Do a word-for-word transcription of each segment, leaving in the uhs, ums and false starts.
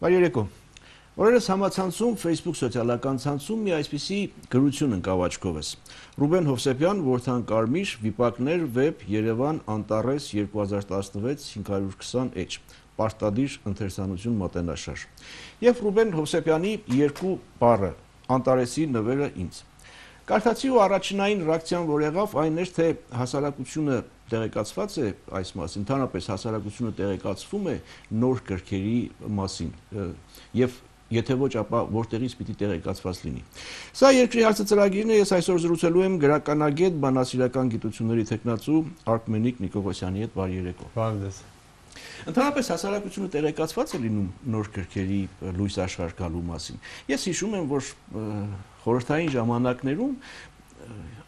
Բարերեկո։ Օրերս համացանցում Facebook սոցիալական ցանցում մի այսպիսի գրություն ընկավ աչքովս։ Ռուբեն Հովսեփյան, Որդան Կարմիր, Վիպակներ, Վեբ, Երևան, Անտարես երկու հազար տասնվեց հինգ հարյուր քսան էյչ, Պարտադիր ընթերցանություն մատենաշար։ Եվ Ռուբեն Հովսեփյանի երկու բառը, Անտարեսի նվերը ինձ։ Կարդացի ու առաջնային ռեակցիան, որ եղավ, այն էր, թե հասարակությունը տեղեկացված է այս մասին, ընդհանրապես հասարակությունը տեղեկացվում է նոր գրքերի մասին եւ եթե ոչ, ապա որտեղից պիտի տեղեկացված լինի։ Սա երկրի հարցը ծրագիրն է, ես այսօր զրուցելու եմ գրականագետ, բանասիրական գիտությունների թեկնածու Արքմենիկ Նիկողոսյանի հետ։ Բարի երեկո։ Բարև։ Ընդհանրապես հասարակությունը տեղեկացված է լինում նոր գրքերի լույս աշխարհ գալու մասին։ Ես հիշում եմ, որ խորհրդային ժամանակներում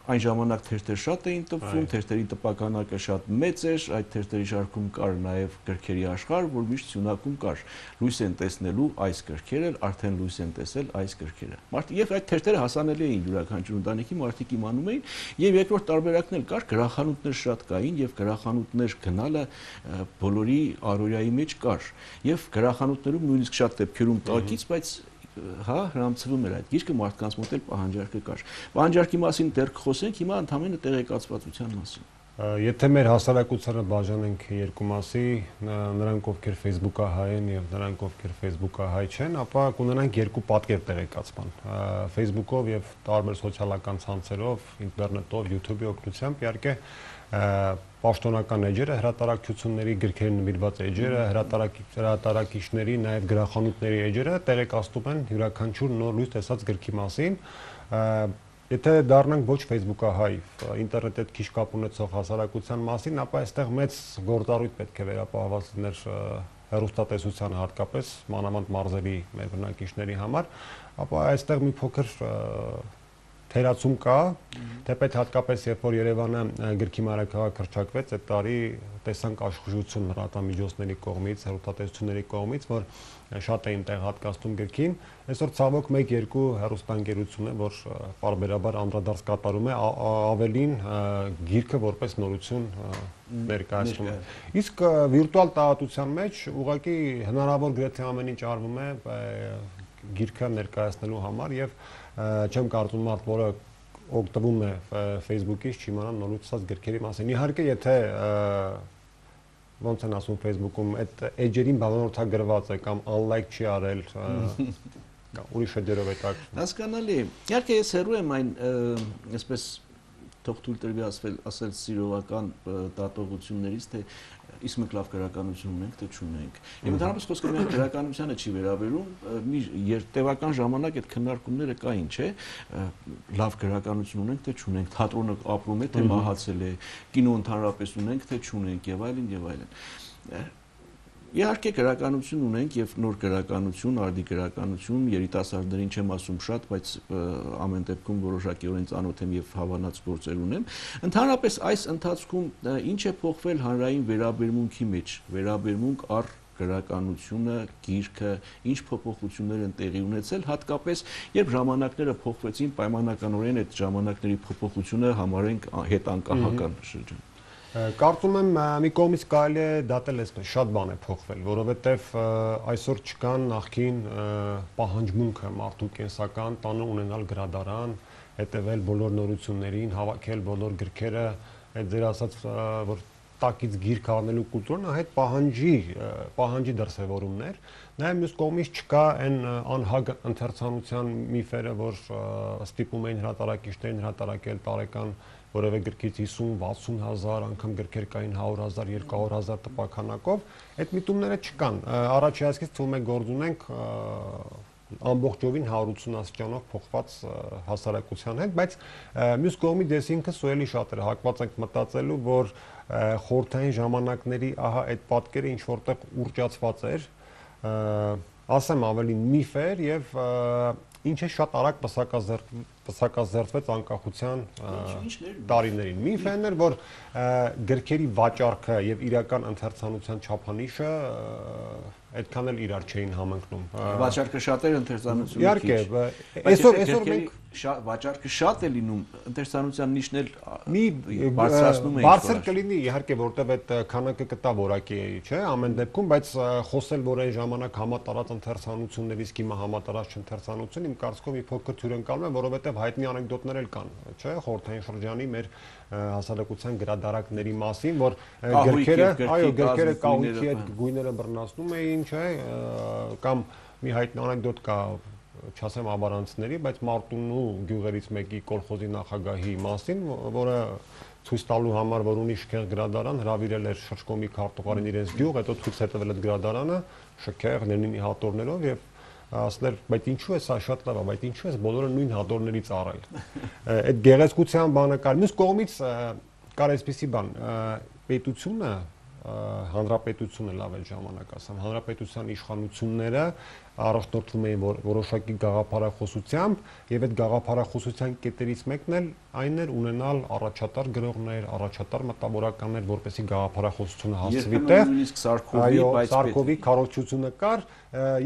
այն ժամանակ թերթեր շատ էին տպվում, թերթերի տպականակը շատ մեծ էր, այդ թերթերի շարքում կար նաև գրքերի աշխարհ, որ միշտ սյունակում կար լույս են տեսնելու այս գրքերը, արդեն լույս են տեսել այս գրքերը։ Եւ այդ թերթերը հասանելի էին յուրաքանչյուր ընտանիքի, մարդիկ իմանում էին, եւ երկրորդ տարբերակն էլ կար, գրախանութներ շատ կային եւ գրախանութներ գնալը բոլորի առօրյայի մեջ կար։ Եվ գրախանութներում նույնիսկ շատ դեպքերում տակից, բայց հա հրամցվում էր այդ գիրքը, մարդկանց մոտ էլ պահանջարկը կար։ Պահանջարկի մասին դեռ կխոսենք, հիմա ընդհանրապես տեղեկացվածության մասին։ Եթե մեր հասարակությանը բաժանենք երկու մասի, նրանք ովքեր Facebook-ահայ են եւ նրանք ովքեր Facebook-ահայ չեն, ապա կունենանք երկու պատկեր տեղեկացման։ Facebook-ով եւ տարբեր սոցիալական ցանցերով, ինտերնետով, YouTube-ի օգնությամբ իհարկե պաշտոնական էջերը, հրատարակչությունների գրքերին նվիրված էջերը, հրատարակիչների, նաև գրախանութների էջերը տեղեկացնում են յուրաքանչյուր նոր լույս տեսած գրքի մասին։ Եթե դառնանք ոչ Facebook-ահայ, ինտերնետի հետ քիչ կապ ունեցող հասարակության մասին, ապա այստեղ մեծ գործառույթ պետք է վերապահված լիներ հեռուստատեսությանը, հատկապես մանավանդ մարզերի մեր բնակիչների համար, ապա այստեղ մի փոքր թերացում կա, թեպետ հատկապես երբ որ Երևանը գրքի մայրաքաղաք հռչակվեց, այդ տարի տեսանք աշխուժություն լրատվամիջոցների կողմից, հեռուստատեսությունների կողմից, որ շատ էին տեղ հատկացնում գրքին։ Այսօր ցավոք մեկ-երկու հեռուստաընկերություն է, որ պարբերաբար անդրադարձ կատարում է, ավելին գիրքը որպես նորություն ներկայացնում է։ Իսկ վիրտուալ տարածության մեջ ուղղակի հնարավոր գրեթե ամեն ինչ արվում է գիրքը ներկայացնելու համար եւ չեմ կարծում մարդ, որը օգտվում է Facebook-ից, չիմանա նորությունած գրքերի մասին։ Իհարկե, եթե ոնց են ասում Facebook-ում, այդ էջերին բանորթագրված է կամ unlike չի արել, ուրիշ էջերով է տակ։ Հասկանալի է։ Իհարկե, ես հեռու եմ այն, այսպես թող թույլ տրվի ասել սիրողական դատողություններից, թե իսկ մենք լավ գրականություն ունենք, թե չունենք։ Եվ ընդհանրապես խոսքը միայն գրականությանը չի վերաբերում, մի տևական ժամանակ այդ քննարկումները կային, չէ՞, լավ գրականություն ունենք, թե չունենք, թատրոնը ապրում է, թե մահացել է, կինո ընդհանրապես ունենք, թե չունենք, եւ այլն եւ այլն։ Իհարկե գրականություն ունենք եւ նոր գրականություն, արդի գրականություն, երիտասարդներին չեմ ասում շատ, բայց ամեն դեպքում որոշակիորեն ծանոթ եմ եւ հավանած գործեր ունեմ։ Ընդհանրապես այս ընթացքում ինչ է փոխվել հանրային վերաբերմունքի մեջ, վերաբերմունք առ գրականությունը, գիրքը, ինչ փոփոխություններ են տեղի ունեցել, հատկապես երբ ժամանակները փոխվեցին, պայմանականորեն այդ ժամանակների փոփոխությունը համարենք հետանկահական շրջան։ Կարծում եմ մի կողմից կարելի է դատել այսպես շատ բան է փոխվել, որովհետև այսօր չկան նախքին պահանջմունքը մարդու կենսական տանը ունենալ գրադարան, հետևել բոլոր նորություններին, հավաքել բոլոր գրքերը, այդ ձեր ասած որ տակից գիրք առնելու կուլտուրան այդ պահանջի պահանջի դրսևորումներ, նաև մյուս կողմից չկա այն անհագ ընթերցանության միֆերը, որ ստիպում էին հրատարակիչներին հրատարակել տարեկան որևէ գրքից հիսուն վաթսուն հազար անգամ գրքեր կային հարյուր հազար երկու հարյուր հազար տպականակով, այդ միտումները չկան։ Առաջի այսքից թվում է գործ ունենք ամբողջովին հարյուր ութսուն աստիճանով փոխված հասարակության հետ, բայց մյուս կողմից ես ինքս ու էլի շատ էր հակված ենք մտածելու, որ խորհրդային ժամանակների ահա այդ պատկերը ինչ որտեղ ուռճացված էր, ասեմ ավելի միֆ էր եւ ինչը շատ արագ պսակազերծվեց անկախության տարիներին։ Միֆն էր, որ գրքերի վաճառքը եւ իրական ընթերցանության չափանիշը այդքան էլ իրար չէին համընկնում։ Վաճառքը շատ էր, ընթերցանությունը Իհարկե, այսօր այսօր մենք վաճառքը շատ է լինում, ընթերցանության նիշն էլ մի բարձրացնում է։ Բարձր կլինի, իհարկե, որտեվ այդ քանակը կտա որակի է, չէ՞, ամեն դեպքում, բայց խոսել, որ այն ժամանակ համատարած ընթերցանություններից հիմա համատարած չընթերցանություն, իմ կարծիքով մի փոքր թյուրընկալում է, որովհետև հայտնի անեկդոտներ էլ կան, չէ՞, խորհրդային շրջանի մեր հասարակության գրադարանների մասին, որ գրքերը, այո, գրքերը կահույքի հետ գույները բռնացնում էին, չէ՞, կամ մի հայտնի անեկդոտ կա, չասեմ ավարանցիների, բայց Մարտունու գյուղերից մեկի կոլխոզի նախագահի մասին, որը ցույց տալու համար, որ ունի շքեղ գրադարան, հրավիրել էր Շրջկոմի քարտուղարին իրենց գյուղ, հետո ցույց է տվել այդ գրադարանը, շքեղ Լենինի հատորներով եւ ասել, բայց ինչու է սա շատ լավ է, բայց ինչու է բոլորը նույն հատորներից առել։ Այդ գեղեցկության բանը կար։ Մյուս կողմից կար այսպիսի բան, պետությունը հանրապետությունը լավ է ժամանակ ասեմ, հանրապետության իշխանությունները առաջնորդվում էին որոշակի գաղափարախոսությամբ եւ այդ գաղափարախոսության կետերից մեկն էլ այն էր ունենալ առաջատար գրողներ, առաջատար մտավորականներ, որպեսզի գաղափարախոսությունը հասցվի տեղ։ Նույնիսկ Սարքովի, բայց Սարքովի քարոզչությունը կար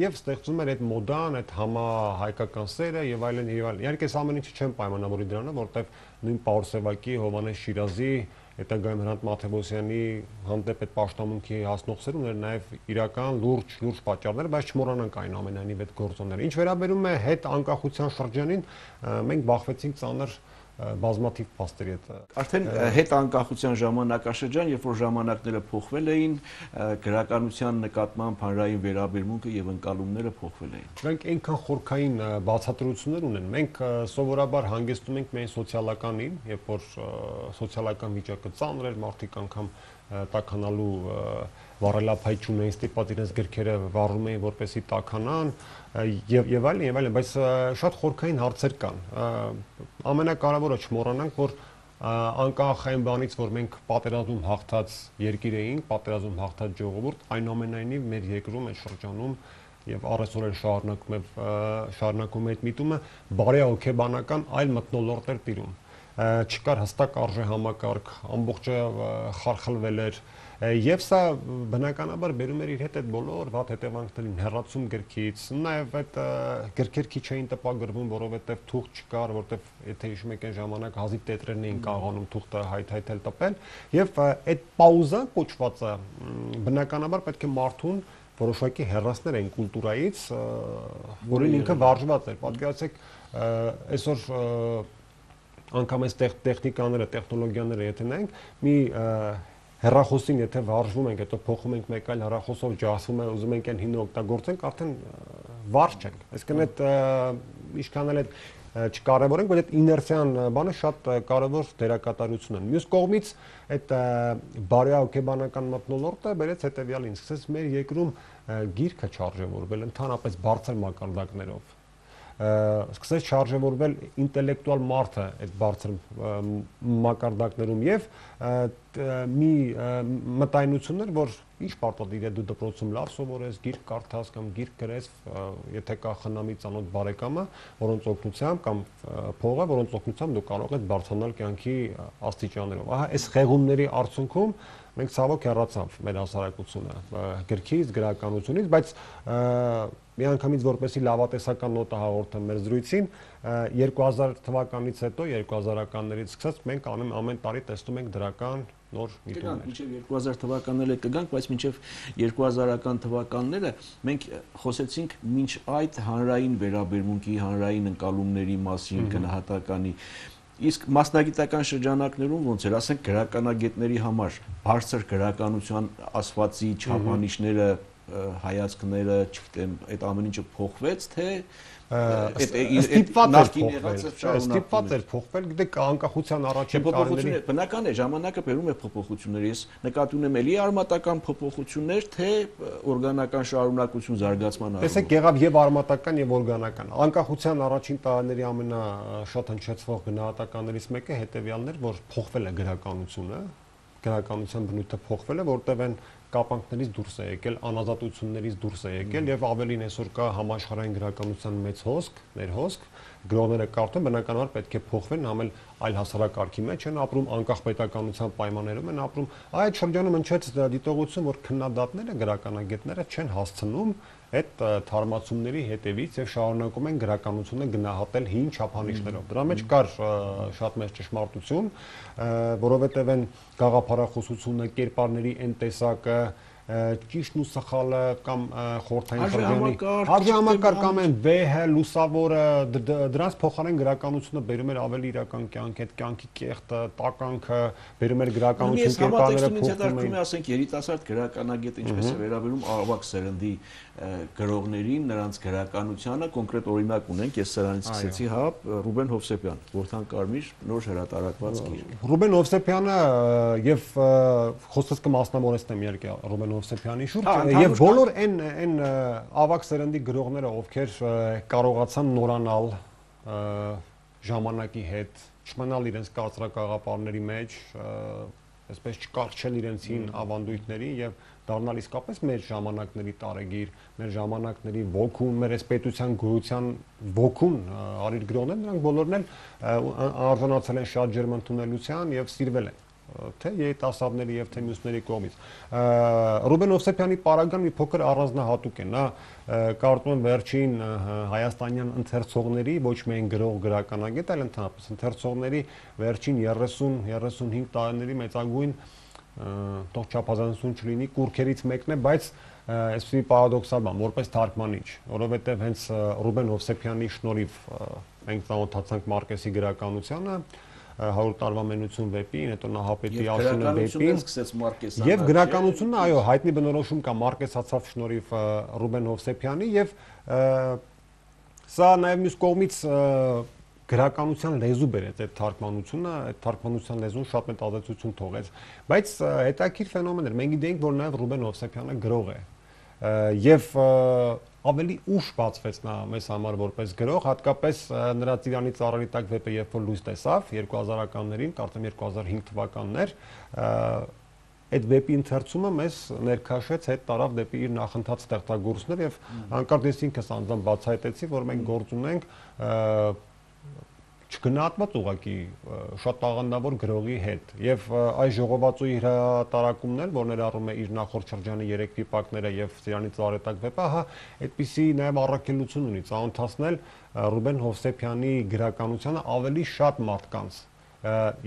եւ ստեղծում էր այդ մոդան, այդ համահայկական սերը եւ այլն եւ այլն։ Իհարկե այս ամեն ինչը չեմ պայմանավորի դրանով, որտեվ նույն Պաուրսևակի, Հովանես Շիրազի հետագայում Հրանտ Մաթեոսյանի հանդեպ այդ պաշտամունքի հասնող սեր ուներ նաև իրական լուրջ լուրջ պատճառներ, բայց չմոռանանք այնուամենայնիվ այդ գործոնները։ Ինչ վերաբերում է հետ անկախության շրջանին, մենք բախվեցինք ծանր բազմաթիվ փաստերի հետ։ Արդեն հետ անկախության ժամանակաշրջան, երբ որ ժամանակները փոխվել էին, գրականության նկատմամբ հանրային վերաբերմունքը եւ ընկալումները փոխվել էին։ Դրանք այնքան խորքային բացատրություններ ունեն։ Մենք սովորաբար հանգեցնում ենք միայն սոցիալականին, երբ որ սոցիալական վիճակը ծանր էր, մարդիկ անգամ տաքանալու վառելափայ չունեին, ստիպված իրենց գրքերը վառում էին, որպեսզի տաքանան եւ եւ այլն եւ այլն, բայց շատ խորքային հարցեր կան։ Ամենակարևորը չմոռանանք, որ անկախ այն բանից, որ մենք պատերազմում հաղթած երկիր էինք, պատերազմում հաղթած ժողովուրդ, այնուամենայնիվ մեր երկրում այս շրջանում եւ առեսօր էլ շարունակում է շարունակում է այդ միտումը բարեհոգեբանական այլ մթնոլորտ էր տիրում։ Չկար հստակ արժե համակարգ, ամբողջը խարխլվել էր եւ սա բնականաբար բերում էր իր հետ այդ բոլոր վատ հետևանքներին, հեռացում գրքից, նաեւ այդ գրքեր քիչ էին տպագրվում, որովհետեւ թուղթ չկար, որովհետեւ եթե հիշում եք այն ժամանակ հազիվ տետրերն էին կարողանում թուղթը հայթայթել տպել եւ այդ պաուզա կոչվածը բնականաբար պետք է մարդուն որոշակի հեռացներ այն կուլտուրայից, որին ինքը վարժված էր։ Պատկերացեք, այսօր անգամ այս տեխնիկաները, տեխնոլոգիաները եթե նայենք, մի հեռախոսին եթե վարժվում ենք, հետո փոխում ենք մեկ այլ հեռախոսով ջասվում է, ուզում ենք այն հինը օգտագործենք, արդեն վարժ չենք։ Այսինքն այդ ինչքան էլ այդ չկարևորենք, բայց այդ իներցիան բանը շատ կարևոր դերակատարություն ունի։ Մյուս կողմից այդ բարեհոգեբանական մթնոլորտը բերեց հետևյալին, սկսեց մեր երկրում գիրքը չարժևորվել ընդհանրապես բարձր մակարդակներով։ Սկսեց չարժևորվել ինտելեկտուալ մարդը այդ բարձր մակարդակներում եւ մի մտայնություններ, որ ինչ պարտադիր է դու դպրոցում լավ սովորես, գիրք կարդաս կամ գիրք գրես, եթե կա խնամի ծանոթ բարեկամը, որոնց օգնությամբ կամ փողը, որոնց օգնությամբ դու կարող ես բարձրանալ կյանքի աստիճաններով։ Ահա այս խեղումների արդյունքում մենք ցավոք հեռացավ մեր հասարակությունը գրքից, գրականությունից, բայց միանգամից որպեսի լավատեսական նոտը հաղորդեմ մեր զրույցին, երկու հազար թվականից հետո, երկու հազարականներից սկսած մենք ամեն ամեն տարի տեսնում ենք դրական նոր միտումներ։ Մինչև երկու հազար թվականները կգանք, բայց մինչև երկու հազարական թվականները մենք խոսեցինք մինչ այդ հանրային վերաբերմունքի, հանրային ընկալումների մասին, գնահատականի Իսկ մասնագիտական շրջանակներում ոնց էր, ասենք գրականագետների համար բարձր գրականության ասվածի չափանիշները, հայացքները, չգիտեմ, այդ ամեն ինչը փոխվեց, թե ստիպված էր փոխվել, գիտեք, անկախության առաջին տարիների բնական է, ժամանակը բերում է փոփոխություններ, ես նկատի ունեմ էլի արմատական փոփոխություններ, թե օրգանական շարունակություն զարգացման առումով։ Տեսեք, եղավ եւ արմատական եւ օրգանական։ Անկախության առաջին տարիների ամենաշատ հնչեցվող գնահատականներից մեկը հետեւյալն էր, որ փոխվել է գրականությունը, գրականության բնույթը փոխվել է, որտեղ են կապանքներից դուրս է եկել, անազատություններից դուրս է եկել եւ ավելին այսօր կա համաշխարհային գրականության մեծ հոսք, ներհոսք, գրողները կարդում բնականաբար պետք է փոխվեն, համել այլ հասարակարգի մեջ են ապրում, անկախ պետականության պայմաններում են ապրում։ Այդ շրջանում հնչեց դիտողություն, որ քննադատները, գրականագետները չեն հասցնում այդ թարմացումների հետևից եւ շարունակում են գրականությունը գնահատել հին չափանիշներով։ Դրա մեջ կար շատ մեծ ճշմարտություն, որովհետեւ այն գաղափարախոսությունը, կերպարների այն տեսակը, ճիշտն ու սխալը կամ խորթային խրճանի հարժամակարգ կամ այն վեհը, լուսավորը, դրանց փոխարեն գրականությունը բերում էր ավելի իրական կյանք, այդ կյանքի կեղտը, տականքը, բերում էր գրականություն, կերպարները փոխում էին։ Ասենք երիտասարդ գրականագետ ինչպես է վերաբերում ավակ սերնդի գրողներին, նրանց գրականությանը, կոնկրետ օրինակ ունենք, ես սրանից սկսեցի, հա, Ռուբեն Հովսեփյան, Որդան Կարմիր, նոր հրատարակված գիրք։ Ռուբեն Հովսեփյանը եւ խոսքս կմասնավորեցնեմ իհարկե Ռուբեն Հովսեփյանի շուրջ եւ բոլոր այն այն ավակ սերնդի գրողները, ովքեր կարողացան նորանալ ժամանակի հետ, չմնալ իրենց կարծրակաղապարների մեջ, այսպես չկարճել իրենցին ավանդույթների եւ դառնալ իսկապես մեր ժամանակների տարեգիր, մեր ժամանակների ոգուն, մեր այս պետության գոյության ոգուն արիր գրողներ, նրանք բոլորն էլ արժանացել են շատ ջերմընդունելության եւ սիրվել են թե երիտասարդների եւ թե մյուսների կողմից։ Ռուբեն Հովսեփյանի պարագան մի փոքր առանձնահատուկ է, նա կարծում եմ վերջին հայաստանյան ընթերցողների, ոչ միայն գրող գրականագետ, այլ ընդհանրապես ընթերցողների վերջին երեսուն երեսունհինգ տարիների մեծագույն թող չափազանցություն չլինի, կուրքերից մեկն է, բայց այսպիսի պարադոքսալ բան, որպես թարգմանիչ, որովհետև հենց Ռուբեն Հովսեփյանի շնորհիվ մենք ծանոթացանք Մարկեսի գրականությանը, հարյուր տարվա մենություն վեպին, հետո Նահապետի Աշունը վեպին, եւ գրականությունը, այո, հայտնի բնորոշում կա Մարկեսացավ շնորհիվ Ռուբեն Հովսեփյանի եւ սա նաեւ մյուս կողմից գրականության լեզու բերեց այդ թարգմանությունը, այդ թարգմանության լեզուն շատ մեծ ազդեցություն թողեց, բայց հետաքրքիր ֆենոմեն էր։ Մենք գիտենք, որ նաև Ռուբեն Հովսեփյանը գրող է եւ ավելի ուշ բացվեց նա մեզ համար որպես գրող, հատկապես նրա Ծիրանի ծառերի տակ վեպը երբ որ լույս տեսավ երկու հազարականներին, կարծեմ երկու հազար հինգ թվականներ, այդ վեպի ընթերցումը մեզ ներքաշեց, հետ տարավ դեպի իր նախընթաց ստեղծագործներ եւ հանկարծ ես ինքս անձամբ բացահայտեցի, որ մենք գործ ունենք չգնահատված ուղղակի շատ տաղանդավոր գրողի հետ եւ այս ժողովածուի հրատարակումն էլ, որ ներառում է իր նախորդ շրջանի երեք վիպակները եւ Ծիրանի ծառետակ վեպը, հա, այդպիսի նաեւ առաքելություն ունի ծանոթացնել Ռուբեն Հովսեփյանի գրականությանը ավելի շատ մարդկանց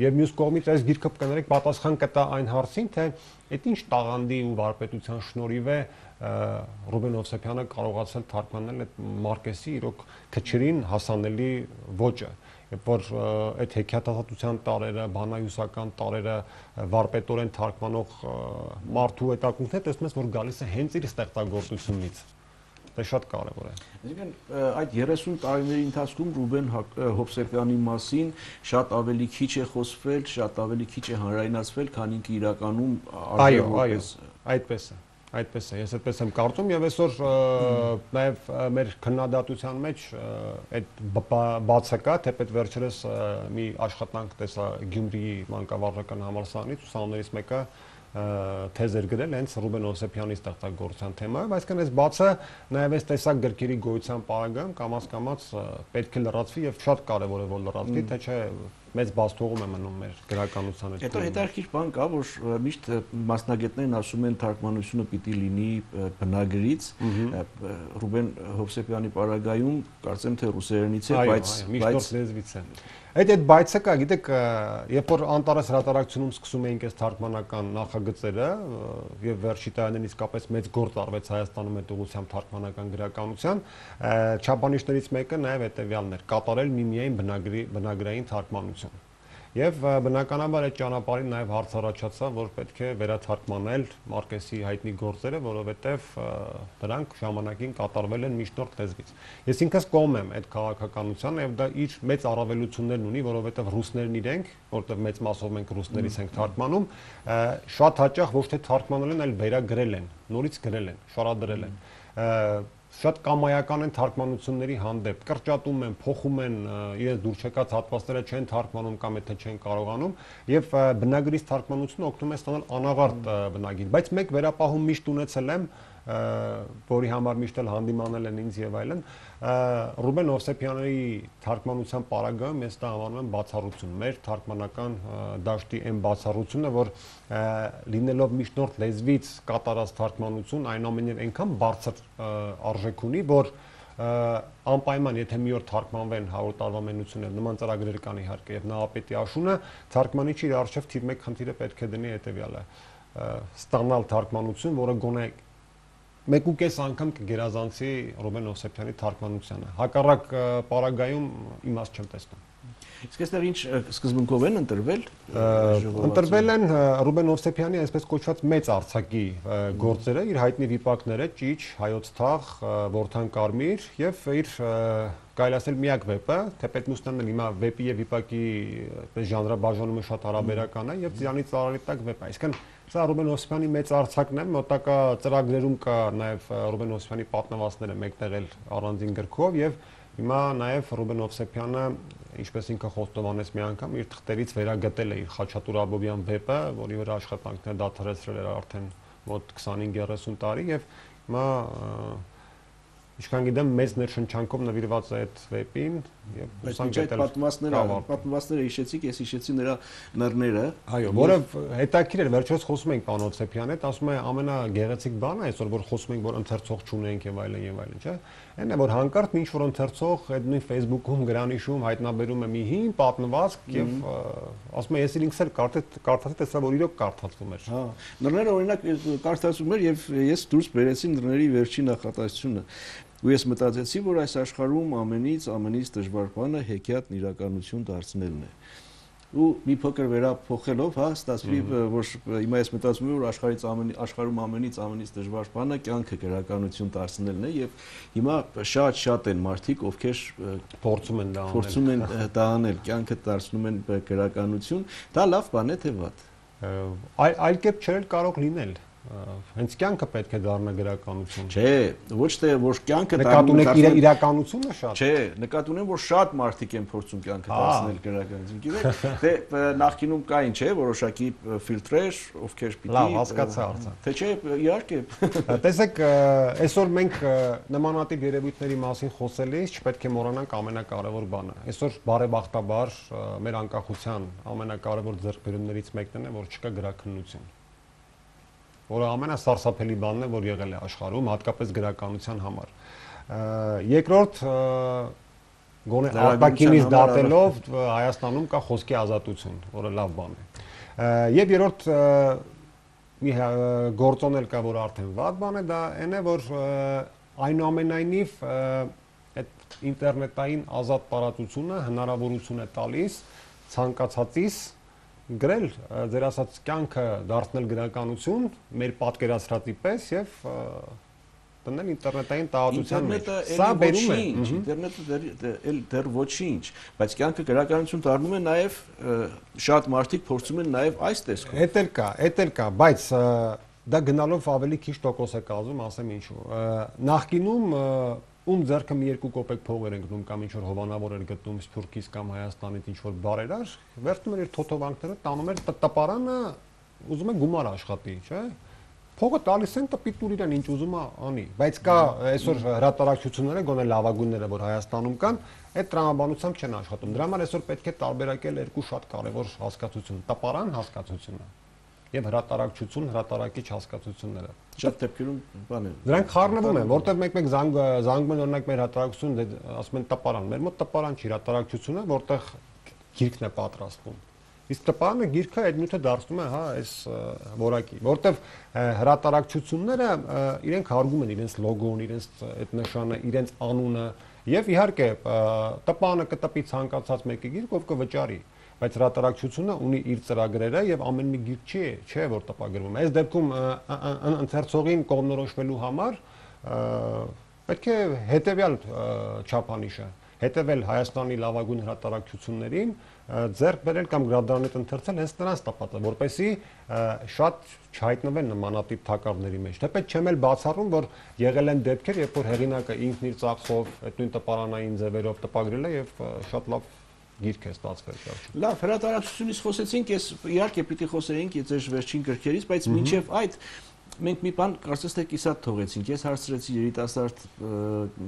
եւ մյուս կողմից այս գիրքը կներեք պատասխան կտա այն հարցին, թե այդ ինչ տաղանդի ու վարպետության շնորհիվ է Ռուբեն Հովսեփյանը կարողացել թարգմանել այդ Մարկեսի իրոք քչերին հասանելի ոճը, երբ որ այդ հեքիաթասացության տարերը, բանահյուսական տարերը վարպետորեն թարգմանող մարդու հետաքրքրությունը տեսնում ես, որ գալիս է հենց իր ստեղծագործությունից։ Դա շատ կարևոր է։ Այսինքն այդ երեսուն տարիների ընթացքում Ռուբեն Հովսեփյանի մասին շատ ավելի քիչ է խոսվել, շատ ավելի քիչ է հանրայնացվել, քան ինքը իրականում արժևորպես։ Այդպես է։ Այդպես է, ես այդպես եմ կարծում եւ այսօր նաեւ մեր քննադատության մեջ այդ բացը կա, թեպետ վերջերս մի աշխատանք տեսա Գյումրիի մանկավարժական համալսարանից ուսանողներից մեկը թեզ էր գրել հենց Ռուբեն Հովսեփյանի ստեղծագործության թեմայով, այսինքն այս բացը նաև այս տեսակ գրքերի գոյության պարագայում կամաց-կամաց պետք է լրացվի եւ շատ կարեւոր է որ լրացվի, թե չէ մեծ բաստողում է մնում մեր գրականության հետ։ Հետո հետաքրքիր բան կա, որ միշտ մասնագետներն ասում են թարգմանությունը պիտի լինի բնագրից, Ռուբեն Հովսեփյանի պարագայում կարծեմ թե ռուսերենից է, բայց բայց լեզվից է։ Այդ այդ բայցը կա, գիտեք, երբ որ Անտարես հրատարակությունում սկսում էինք այս թարգմանական նախագծերը եւ վերջի տարիներին իսկապես մեծ գործ արվեց Հայաստանում այդ ուղղությամբ թարգմանական գրականության, չափանիշներից մեկը նաեւ հետեւյալն էր՝ կատարել միմիայն բնագրի բնագրային թարգմանություն։ Եվ բնականաբար այդ ճանապարհին նաև հարց առաջացավ, որ պետք է վերաթարգմանել Մարկեսի հայտնի գործերը, որովհետև դրանք ժամանակին կատարվել են միջնորդ լեզվից։ Ես ինքս կողմ եմ այդ քաղաքականությանը եւ դա իր մեծ առավելություններն ունի, որովհետև ռուսներն իրենք, որովհետև մեծ մասով մենք ռուսներից ենք թարգմանում, շատ հաճախ ոչ թե թարգմանել են, այլ վերագրել են, նորից գրել են, շարադրել են։ շատ կամայական են թարգմանությունների հանդեպ, կրճատում են, փոխում են իրենց դուր չեկած հատվածները չեն թարգմանում կամ եթե չեն կարողանում եւ բնագրից թարգմանությունը օգնում է ստանալ անաղարտ բնագիր, բայց մեկ վերապահում միշտ ունեցել եմ, որի համար միշտ էլ հանդիմանել են ինձ եւ այլն, Ռուբեն Հովսեփյանի թարգմանության պարագայում ես դա անվանում եմ բացառություն, մեր թարգմանական դաշտի այն բացառությունը, որ լինելով միջնորդ լեզվից կատարած թարգմանություն այնուամենայնիվ այնքան բարձր արժեք ունի, որ անպայման եթե մի օր թարգմանվեն հարյուր տարվա մենություններ, նման ծրագրեր կան իհարկե եւ Նահապետի աշունը թարգմանիչի իր արժեվ թիվ մեկ խնդիրը պետք է դնի հետեւյալը ստանալ թարգմանություն, որը գոնե մեկ ու կես անգամ կգերազանցի Ռուբեն Հովսեփյանի թարգմանությանը։ Հակառակ պարագայում իմաստ չեմ տեսնում։ Իսկ այստեղ ինչ սկզբունքով են ընտրվել։ Ընտրվել են Ռուբեն Հովսեփյանի այսպես կոչված մեծ արձակի գործերը, իր հայտնի վիպակները՝ Ճիչ, Հայոց թաղ, Որդան կարմիր եւ իր կարելի ասել միակ վեպը, թեպետ Մուսնյանն էլ հիմա վեպի եւ վիպակի այդպես ժանրաբաժանումը շատ հարաբերական է եւ Ծիրանի ծառերի տակ վեպ է։ Այսինքն սա Ռուբեն Հովսեփյանի մեծ արձակն է, մոտակա ծրագրերում կա նաեւ Ռուբեն Հովսեփյանի պատմվածքները մեկտեղել առանձին գրքով եւ հիմա նաեւ Ռուբեն Հովսեփյանը, ինչպես ինքը խոստովանեց մի անգամ, իր թղթերից վերագտել է իր Խաչատուր Աբովյան վեպը, որի վրա աշխատանքներ դադարեցրել էր արդեն մոտ քսանհինգ երեսուն տարի եւ հիմա Ինչքան գիտեմ, մեծ ներշնչանքով նվիրված է այդ վեպին եւ հուսանք պատմվածքները, պատմվածքները հիշեցիք, ես հիշեցի նրա նռները։ Այո, որը հետաքրքիր էր, վերջերս խոսում ենք պարոն Հովսեփյանի հետ, ասում է ամենագեղեցիկ բանը այսօր, որ խոսում ենք, որ ընթերցող չունենք եւ այլն եւ այլն, չէ՞։ Այն է, որ հանկարծ ինչ որ ընթերցող այդ նույն Facebook-ում գրանիշում հայտնաբերում է մի հին պատմվածք եւ ասում է, ես ինքս էլ կարդացի, տեսա, որ իրոք կարդացվում էր։ Հա, նռները օրինակ կարդացվում էր եւ ես դուրս բերեցի նռների վերջին նախատեսությունը։ Ու ես մտածեցի, որ այս աշխարհում ամենից ամենից դժվար բանը հեքիաթն իրականություն դարձնելն է։ Ու մի փոքր վերափոխելով, հա, ստացվի, որ հիմա ես մտածում եմ, որ աշխարհից ամենի աշխարհում ամենից ամենից դժվար բանը կյանքը գրականություն դարձնելն է եւ հիմա շատ-շատ են մարդիկ, ովքեր փորձում են դա անել։ Փորձում են դա անել, կյանքը դարձնում են գրականություն, դա լավ բան է թե վատ։ Այլ կերպ չէր կարող լինել։ Հենց կյանքը պետք է դառնա գրականություն։ Չէ, ոչ թե որ կյանքը դառնում է իրականությունը շատ։ Չէ, նկատի ունեմ, որ շատ մարդիկ են փորձում կյանքը դարձնել գրականություն։ Գիտեք, թե նախկինում կային, չէ, որոշակի ֆիլտրեր, ովքեր պիտի։ Լավ, հասկացա արդեն։ Թե չէ, իհարկե։ Տեսեք, այսօր մենք նմանատիպ երևույթների մասին խոսելիս չպետք է մոռանանք ամենակարևոր բանը։ Այսօր բարեբախտաբար մեր անկախության ամենակարևոր ձեռքբերումներից մեկն է, որ չկա գրաքննություն, որը ամենասարսափելի բանն է, որ եղել է աշխարհում, հատկապես գրականության համար։ Երկրորդ, գոնե արտաքինից դատելով Հայաստանում կա խոսքի ազատություն, որը լավ բան է։ Եվ երրորդ մի գործոն էլ կա, որ արդեն վատ բան է, դա այն է, որ այնուամենայնիվ այդ ինտերնետային ազատ տարածությունը հնարավորություն է տալիս ցանկացածից գրել ձեր ասած կյանքը դարձնել գրականություն մեր պատկերացրածի պես եւ դնել ինտերնետային տարածության մեջ։ Սա բերում է ինտերնետը դեռ ոչինչ, բայց կյանքը գրականություն դառնում է նաեւ շատ մարդիկ փորձում են նաեւ այս տեսքով։ Էդ էլ կա, էդ էլ կա, բայց դա գնալով ավելի քիչ տոկոս է կազմում, ասեմ ինչու։ Նախկինում ում ձեռքը մի երկու կոպեկ փող էր ընկնում կամ ինչ որ հովանավոր էր գտնում Սփյուռքից կամ Հայաստանից ինչ որ բարեր էր, վերցնում էր իր թոթովանքները, տանում էր տպարանը, ուզում է գումար աշխատի, չէ՞։ Փողը տալիս են տպիտուր իրան ինչ ուզում է անի, բայց կա այսօր հրատարակչությունները, գոնե լավագույնները, որ Հայաստանում կան, այդ տրամաբանությամբ չեն աշխատում։ Դրա համար այսօր պետք է տարբերակել երկու շատ կարևոր հասկացություն՝ տպարան հասկացությունը եւ հրատարակչություն, հրատարակիչ հասկացությունները։ Շատ դեպքերում բան է։ Դրանք խառնվում են, որտեղ մեկ-մեկ զանգում են օրինակ մեր հրատարակությունը, ասում են տպարան, մեր մոտ տպարան չի, հրատարակչությունը, որտեղ գիրքն է պատրաստվում։ Իսկ տպարանը գիրքը այդ նյութը դարձնում է, հա, այս որակի, որտեղ հրատարակչությունները իրենք հարգում են իրենց լոգոն, իրենց այդ նշանը, իրենց անունը եւ իհարկե տպարանը կտպի ցանկացած մեկի գիրք, ով կվճարի, բայց հրատարակչությունը ունի իր ծրագրերը եւ ամեն մի գիրք չի, չէ, որ տպագրվում է։ Այս դեպքում ընթերցողին կողմնորոշվելու համար պետք է հետեւյալ չափանիշը հետևել Հայաստանի լավագույն հրատարակչություններին, ձեռք բերել կամ գրադարաններ ընթերցել հենց նրանց տապատը, որպեսզի շատ չհայտնվեն նմանատիպ թակարդների մեջ։ Թեպետ չեմ էլ բացառում, որ եղել են դեպքեր, երբ որ հեղինակը ինքն իր ծախսով այդ նույն տպարանային ձևերով տպագրել է եւ շատ լավ գիրք է ստացվել վերջում։ Լավ, հրատարակչությունից խոսեցինք, ես իհարկե պիտի խոսեինք ձեր վերջին գրքերից, բայց մինչև այդ մենք մի բան կարծես թե կիսատ թողեցինք։ Ես հարցրեցի երիտասարդ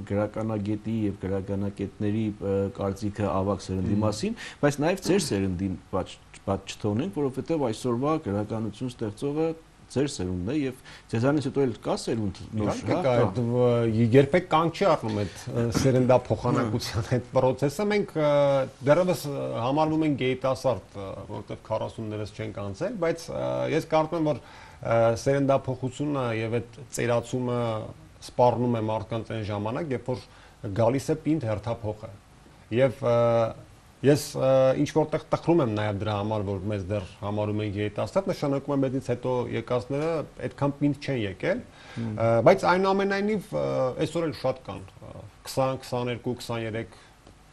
գրականագետի եւ գրականագետների կարծիքը ավագ սերնդի մասին, բայց նաեւ ձեր սերնդին բաց չթողնենք, որովհետեւ այսօրվա գրականություն ստեղծողը ձեր սերունդն է եւ ձեզանից հետո էլ կա սերունդ նոր, հա։ Երբեք կանգ չի առնում այդ սերնդափոխանակության այդ process-ը։ Մենք դեռևս համարվում ենք երիտասարդ, որովհետեւ քառասուններս չենք անցել, բայց ես կարծում եմ, որ սերնդափոխությունը եւ այդ ծերացումը սպառնում է մարդկանց այն ժամանակ, երբ որ գալիս է պինդ հերթափոխը։ Եվ ես ինչ որտեղ տխրում եմ նաեւ դրա համար, որ մեզ դեռ համարում են երիտասարդ, նշանակում է մեզից հետո եկածները այդքան պինդ չեն եկել, բայց այնուամենայնիվ այսօր էլ շատ կան քսան, քսաներկու, քսաներեք,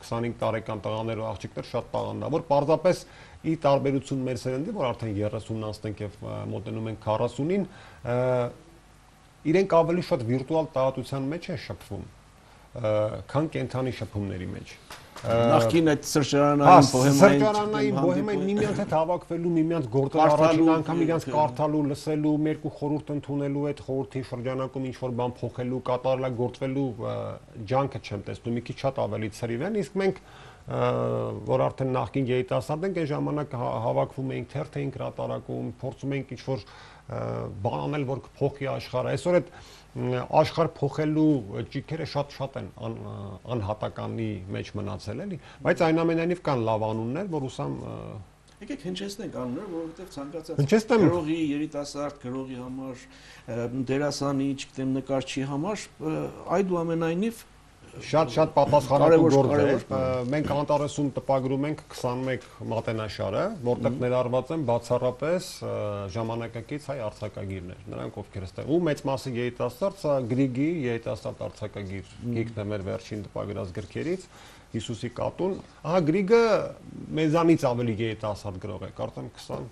քսանհինգ տարեկան տղաներ ու աղջիկներ շատ տաղանդավոր, պարզապես ի տարբերություն մեր սերնդի, որ արդեն երեսունն անցնենք եւ մոտենում ենք քառասունին, իրենք ավելի շատ վիրտուալ տարածության մեջ են շփվում, քան կենթանի շփումների մեջ։ Նախքին այդ սրճարանային բոհեմային սրճարանային բոհեմային միմյանց հետ հավաքվելու, միմյանց գործել առաջին անգամ իրենց կարդալու, լսելու, երկու խորհուրդ ընդունելու, այդ խորհրդի շրջանակում ինչ որ բան փոխելու, կատարելագործվելու ջանքը չեմ տեսնում, մի քիչ շատ ավելի ցրիվ են, իսկ մենք որ արդեն նախքին երիտասարդ ենք, այն ժամանակ հավաքվում էինք, թերթ էինք հրատարակում, փորձում էինք ինչ որ բան անել, որ կփոխի աշխարհը։ Այսօր այդ աշխարհ փոխելու ճիգերը շատ-շատ են անհատականի մեջ մնացել, էլի, բայց այնուամենայնիվ կան լավ անուններ, որ ուսամ եկեք հնչեցնենք անուններ, որովհետև ցանկացած գրողի, երիտասարդ գրողի համար, դերասանի, չգիտեմ, նկարչի համար այդուամենայնիվ շատ-շատ պատասխանատու գործ է։ Մենք անտարեսում տպագրում ենք քսանմեկ մատենաշարը, որտեղ ներառված են բացառապես ժամանակակից հայ արձակագիրներ, նրանք ովքեր ստեղ ու մեծ մասը երիտասարդ, սա Գրիգի երիտասարդ արձակագիր գիրքն է մեր վերջին տպագրած գրքերից, Հիսուսի կատուն։ Ահա Գրիգը մեզանից ավելի երիտասարդ գրող է, կարծեմ քսան,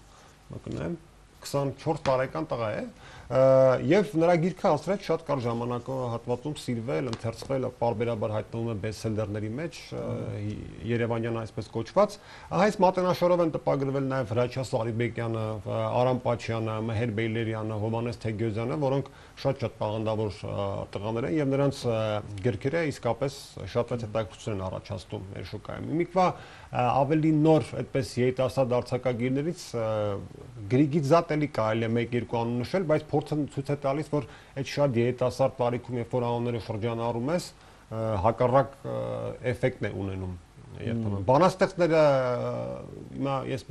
մկնեմ, քսանչորս տարեկան տղա է։ Եվ նրա գիրքը ասրեց շատ կար ժամանակահատվածում սիրվել, ընթերցվել, պարբերաբար հայտնվում է բեսթսելերների մեջ, երևանյան այսպես կոչված։ Այս մատենաշարով են տպագրվել նաև Հրաչյա Սարիբեկյանը, Արամ Պաչյանը, Մհեր Բեյլերյանը, Հովհաննես Թեգյոզյանը, որոնք շատ-շատ տաղանդավոր տղաներ են եւ նրանց գրքերը իսկապես շատ հետաքրքրություն են առաջացնում մեր շուկայում։ Իմիկվա ավելի նոր այդպես երիտասարդ արձակագիրներից Գրիգից զատ էլի կարելի է մեկ-երկու անուն նշել, բայց փորձը ցույց է տալիս, որ այդ շատ երիտասարդ տարիքում, երբ որ անունները շրջանառում ես, հակառակ էֆեկտն է ունենում երբեմն։ Բանաստեղծները հիմա ես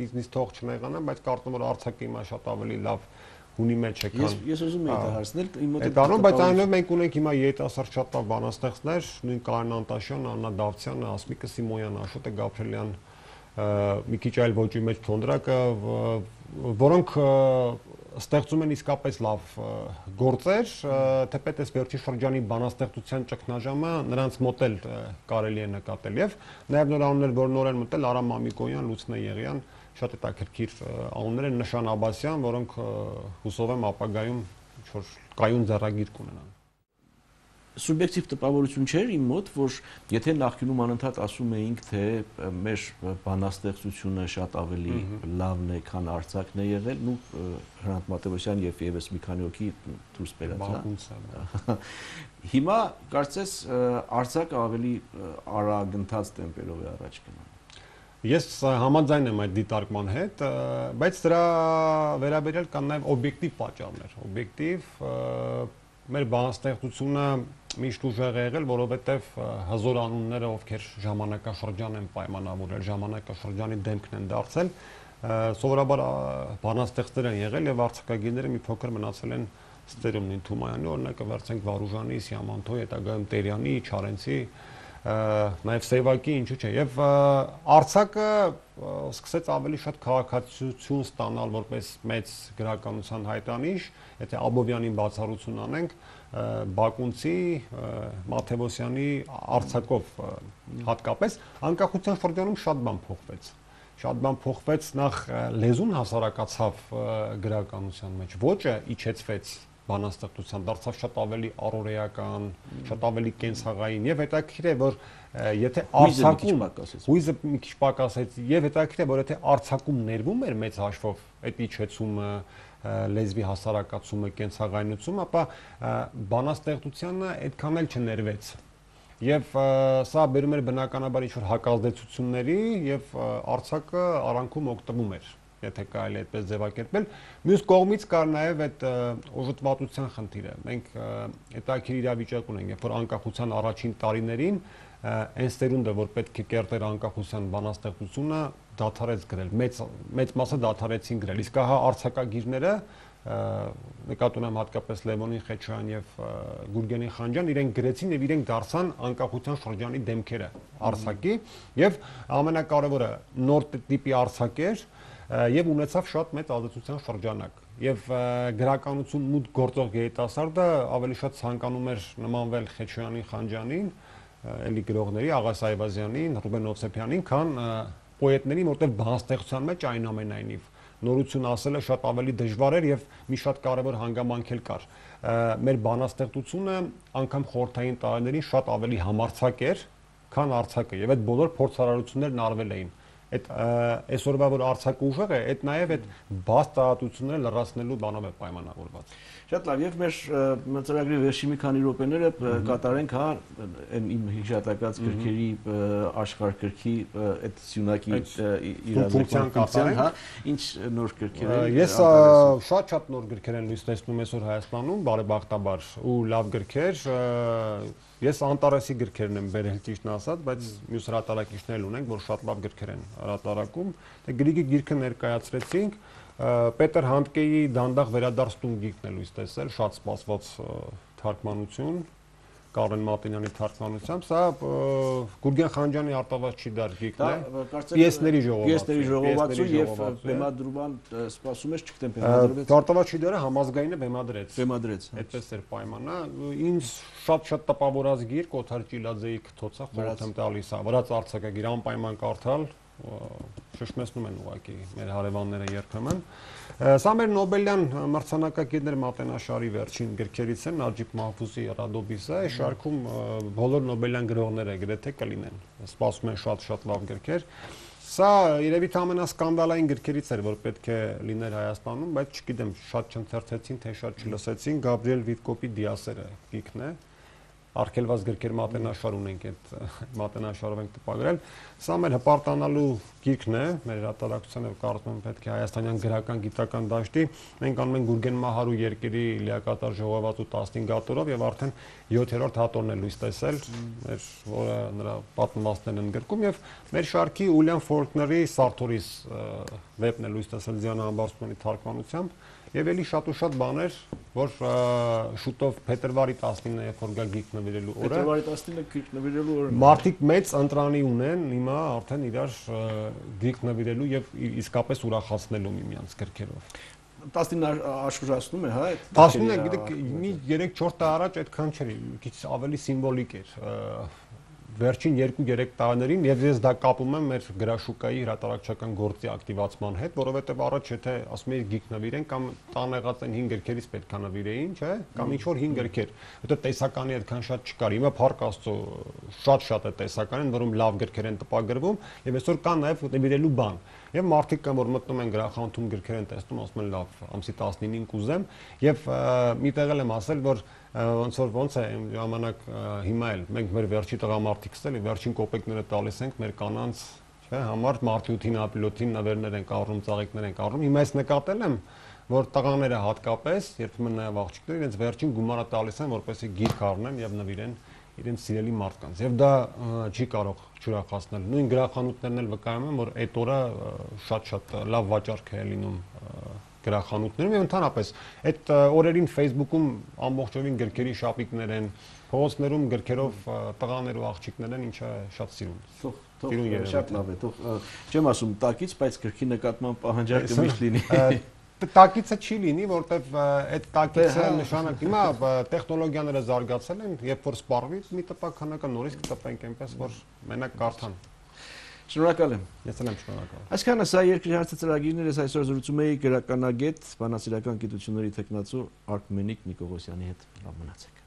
ինձ թող չնեղանամ, բայց կարծում եմ, որ արձակը հիմա շատ ավելի լավ հունի մեջ է քան։ Ես ուզում եմ դա հարցնել, իմ մոտ է։ Բայց այնուհետև մենք ունենք հիմա երիտասարդ շատ լավ բանաստեղծներ, նույն Կարեն Անտաշյանը, Աննա Դավթյանը, Ասմիկը Սիմոյանը, Աշոտը Գաբրելյան, մի քիչ այլ ոճի մեջ Թոնդրակը, որոնք ստեղծում են իսկապես լավ գործեր, թեպետ այս վերջի շրջանի բանաստեղծության ճգնաժամը նրանց մոտ էլ կարելի է նկատել եւ նաեւ նոր անուններ, որ նոր են մտել, Արամ Մամիկոյան, Լուսնե Եղիան, շատ հետաքրքիր անուններ են, Նշան Աբասյան, որոնք հուսով եմ ապագայում ինչ որ կայուն ձեռագիր կունենան։ Սուբյեկտիվ տպավորություն չէր իմ մոտ, որ եթե նախկինում անընդհատ ասում էինք, թե մեր բանաստեղծությունը շատ ավելի լավն է, քան արձակն է եղել, նու Հրանտ Մատևոսյան եւ եւս մի քանի հոգի դուրս բերած, հա։ Հիմա կարծես արձակը ավելի արագընթաց տեմպերով է առաջ գնում։ Ես համաձայն եմ այդ դիտարկման հետ, բայց դրա վերաբերյալ կան նաեւ օբյեկտիվ պատճառներ, օբյեկտիվ մեր բանաստեղծությունը միշտ ուժեղ է եղել, որովհետև հզոր անունները, ովքեր ժամանակաշրջան են պայմանավորել, ժամանակաշրջանի դեմքն են դարձել, սովորաբար բանաստեղծներ են եղել եւ արձակագիրները մի փոքր մնացել են ստերում, նույն Թումայանի օրինակը վերցենք Վարուժանի, Սիամանթոյի, հետագայում Տերյանի, Չարենցի, նաև Սևակի, ինչու՞ չէ։ Եվ Արցախը սկսեց ավելի շատ քաղաքացիություն ստանալ որպես մեծ գրականության հայտանիշ, եթե Աբովյանին բացառություն անենք, Բակունցի, Մաթևոսյանի Արցախով հատկապես անկախության շրջանում շատ բան փոխվեց։ Շատ բան փոխվեց, նախ լեզուն հասարակացավ գրականության մեջ, ոճը իջեցվեց բանաստեղծության, դարձավ շատ ավելի առօրեական, շատ ավելի կենցաղային եւ հետաքրքիր է, որ եթե Արցախում հույզը մի քիչ պակասեց եւ հետաքրքիր է, որ եթե Արցախում ներվում էր մեծ հաշվով այդ իջեցումը, լեզվի հասարակացումը, կենցաղայնությունը, ապա բանաստեղծությանը այդքան էլ չներվեց։ Եվ սա բերում էր բնականաբար ինչ-որ հակազդեցությունների եւ Արցախը արանքում օգտվում էր, եթե կարելի է այդպես ձևակերպել։ Մյուս կողմից կար նաեւ այդ օժտվածության խնդիրը։ Մենք հետաքրքիր իրավիճակ ունենք, երբ որ անկախության առաջին տարիներին այն սերունդը, որ պետք է կերտեր անկախության բանաստեղծությունը, դադարեց գրել, մեծ մեծ մասը դադարեցին գրել։ Իսկ հա արցակագիրները նկատի ունեմ հատկապես Լևոնին Խեչյան եւ Գուրգենի Խանջյան, իրենք գրեցին եւ իրենք դարձան անկախության շրջանի դեմքերը Արցախի եւ ամենակարևորը նոր տիպի Արցախ էր եւ ունեցավ շատ մեծ ազդեցության շրջանակ եւ գրականություն մուտք գործող երիտասարդը ավելի շատ ցանկանում էր նմանվել Խեչյանի Խանջյանին, էլի գրողների Աղաս Այվազյանին, Ռուբեն Օվսեփյանին, քան պոետներին, որտեղ բանաստեղծության մեջ այնուամենայնիվ նորություն ասելը շատ ավելի դժվար էր եւ մի շատ կարեւոր հանգամանք էլ կար։ Մեր բանաստեղծությունը անգամ խորհրդային տարիներին շատ ավելի համարձակ էր, քան Արցախը եւ այդ բոլոր փորձարարություններն արվել էին։ Այդ այսօրվա որ Արցախը ուժեղ է, այդ նաեւ այդ բաց տարածությունները լրացնելու բանով է պայմանավորված։ Շատ լավ, եւ մեր ծրագրի վերջի մի քանի րոպեները կատարենք, հա, այն իմ հիշատակած գրքերի աշխարհ գրքի այդ սյունակի իրավունքության, հա, ինչ նոր գրքեր են։ Ես շատ-շատ նոր գրքեր են լույս տեսնում այսօր Հայաստանում, բարեբախտաբար, ու լավ գրքեր։ Ես Անտարեսի գրքերն եմ բերել ճիշտն ասած, բայց մյուս հրատարակիչներ ունենք, որ շատ լավ գրքեր են հրատարակում։ Դե Գրիգի գիրքը ներկայացրեցինք, Պետր Հանդկեի դանդաղ վերադարձ տուն գիրքն է լույս տեսել, շատ սպասված թարգմանություն, Կարեն Մատենյանի թարգմանությամբ, սա Գուրգեն Խանջյանի Արտավազ չի դար գիրքն է, պիեսների ժողովածու եւ բեմադրման սպասում ես, չգիտեմ, բեմադրվեց։ Արտավազ չի դարը համազգայինը բեմադրեց։ Բեմադրեց։ Այդպես էր պայմանը, ինձ շատ-շատ տպավորած գիրք Օթար Ճիլաձեի Քթոցը խորհուրդ եմ տալիս, վրաց արձակագիր անպայման կարդալ, շշմեցնում են ուղղակի մեր հարևանները երբեմն։ Սա մեր Նոբելյան մրցանակակիրներ Մատենաշարի վերջին գրքերից են, Նաջիբ Մահֆուզի Ռադոբիսը, այս շարքում բոլոր Նոբելյան գրողները գրեթե կլինեն։ Սպասում են շատ-շատ լավ գրքեր։ Սա երևի թե ամենասկանդալային գրքերից էր, որ պետք է լիներ Հայաստանում, բայց չգիտեմ, շատ չընթերցեցին, թե շատ չլսեցին, Գաբրիել Վիտկոպի Դիասերը գիրքն է։ Արգելված գրքեր Մատենաշար ունենք, այդ Մատենաշարով ենք տպագրել։ Սա մեր հպարտանալու գիրքն է, մեր հրատարակությանը կարծում եմ պետք է հայաստանյան գրական գիտական դաշտի։ Մենք անում ենք Գուրգեն Մահարու երկերի լիակատար ժողովածու տասնհինգ հատորով եւ արդեն յոթերորդ հատորն է լույս տեսել, մեր որը նրա պատմվածքներն են գրքում եւ մեր շարքի Ուիլյամ Ֆոլկների Սարթորիս վեպն է լույս տեսել Դիանա Ամբարձումյանի թարգմանությամբ։ Եվ էլի շատ ու շատ բաներ, որ շուտով փետրվարի տասնինը երբ որ գա գիրք նվիրելու օրը։ Փետրվարի տասնինը գիրք նվիրելու օրը։ Մարդիկ մեծ ընտրանի ունեն հիմա արդեն իրար գիրք նվիրելու եւ իսկապես ուրախացնելու միմյանց գրքերով։ տասնինը աշխուժացնում է, հա, այդ։ տասնինը, գիտեք, մի երեք-չորս տարի առաջ այդքան չէր, քիչ ավելի սիմվոլիկ էր։ Վերջին երկու-երեք տարիներին եւ ես դա կապում եմ մեր գրաշուկայի հրատարակչական գործի ակտիվացման հետ, որովհետեւ առաջ եթե ասում էի գիրք նվիրեն կամ տանեղած են հինգ գրքերից պետք է նվիրեին, չէ՞, կամ ինչ որ հինգ գրքեր, որտեղ տեսականի այդքան շատ չկար։ Հիմա փառք Աստծո շատ-շատ է տեսականին, որում լավ գրքեր են տպագրվում եւ այսօր կա նաեւ նվիրելու բան։ Եվ մարդիկ կան, որ մտնում են գրախանութում գրքեր են տեսնում, ասում են լավ, ամսի տասնինին կուզեմ եւ մի տեղ եմ ասել, որ ոնց որ ոնց է ժամանակ հիմա էլ մենք մեր վերջի տղամարդիկս էլի վերջին կոպեկները տալիս ենք մեր կանանց, չէ, համար մարտյութին, ապիլոթին նվերներ են կառնում, ծաղիկներ են կառնում։ Հիմա ես նկատել եմ, որ տղաները հատկապես, երբեմն նաեւ աղջիկները իրենց վերջին գումարը տալիս են, որպեսզի գիրք առնեն եւ նվիրեն իրենց սիրելի մարդկանց։ Եվ դա չի կարող չուրախացնել։ Նույն գրախանութներն էլ վկայում են, որ այդ օրը շատ-շատ լավ վաճառք է լինում գրախանութներում եւ ընդհանրապես այդ օրերին Facebook-ում ամբողջովին գրքերի շապիկներ են, փողոցներում գրքերով տղաներ ու աղջիկներ են, ինչը շատ սիրուն։ Թող շատ լավ է, թող չեմ ասում տակից, բայց գրքի նկատմամբ պահանջարկը միշտ լինի։ Տակիցը չի լինի, որտեվ այդ տակիցը նշանակ հիմա տեխնոլոգիաները զարգացել են, երբ որ սպառվի մի տպաքանակը նորից կտպենք այնպես, որ մենակ կարդան։ Շնորհակալ եմ։ Ես եմ շնորհակալ։ Այսքանը սա երկրի հարցը ծրագիրներ ես այսօր զրուցում էի գրականագետ, բանասիրական գիտությունների թեկնածու Արքմենիկ Նիկողոսյանի հետ։ Լավ մնացեք։